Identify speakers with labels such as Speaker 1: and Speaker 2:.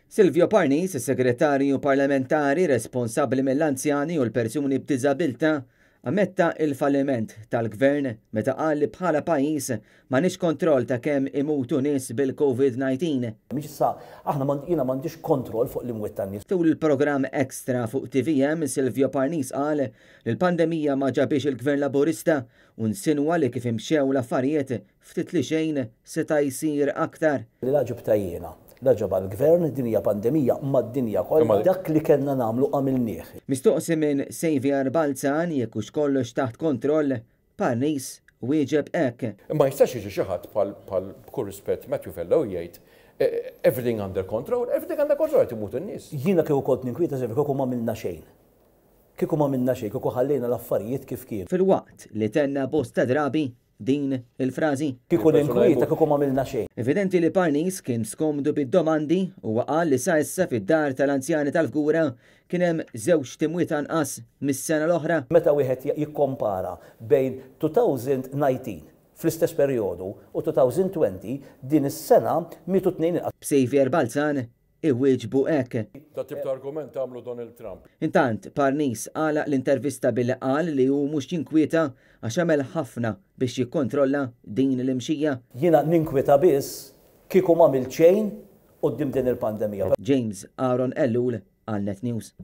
Speaker 1: Silvio Parnis, is-Segretarju Parlamentari responsabbli mill-anzjani u l-persuni b'diżabilità, ammetta il-falliment tal-Gvern meta qal li bħala pajjiż m'għandniex kontroll ta' kemm imutu nies bil-Covid-19.
Speaker 2: Mhix issa, aħna m'għand, jiena m'għandix kontroll fuq l-imwiet tan-nies.
Speaker 1: Tul il-programm Extra fuq tvm, Silvio Parnis qal li l-pandemija ma ġabhiex il-Gvern Laburista u nsinwa li kif imxew l-affarijiet ftit li xejn seta' jsir aktar.
Speaker 2: Li la ġibtha jiena, la ġabha l-Gvern, din hija pandemija mad-dinja kollha. Dak li kellna nagħmlu għamilnieh.
Speaker 1: Mistoqsi minn Saviour Balzan jekk hux kollox taħt kontroll, Parnis wieġeb hekk.
Speaker 3: Ma jistax jiġi xi ħadd bħal bħal b'kull rispett Matthew Vella u jgħid everything under control, everything under control qed imutu n-nies.
Speaker 2: Jiena kieku kont ninkwieta Saviour kieku m'għamilna xejn. Kieku m'għamilna xejn, kieku ħallejna l-affarijiet kif kienu.
Speaker 1: Filwaqt li tenna bosta drabi din il-frażi.
Speaker 2: Kieku ninkwieta kieku m'għamilna xejn.
Speaker 1: Evidenti li Parnis kien skomdu bid-domandi u qal li sa issa fid-dar tal-anzjani tal-Fgura kien hemm żewġt imwiet anqas mis-sena l-oħra.
Speaker 2: Meta wieħed jikkompara bejn 2019 fl-istess perjodu u 2020, din is-sena mietu tnejn inqas.
Speaker 1: B'Saviour Balzan iwieġbu hekk.
Speaker 3: Dat-tip ta' argument għamlu Donald Trump.
Speaker 1: Intant, Parnis għalaq l-intervista billi qal li hu mhux jinkwieta għax għamel ħafna biex jikkontrolla din l-imxija.
Speaker 2: Jiena ninkwieta biss kieku m'għamilt xejn quddiem din il-pandemija.
Speaker 1: James Aaron Ellul għal Net News.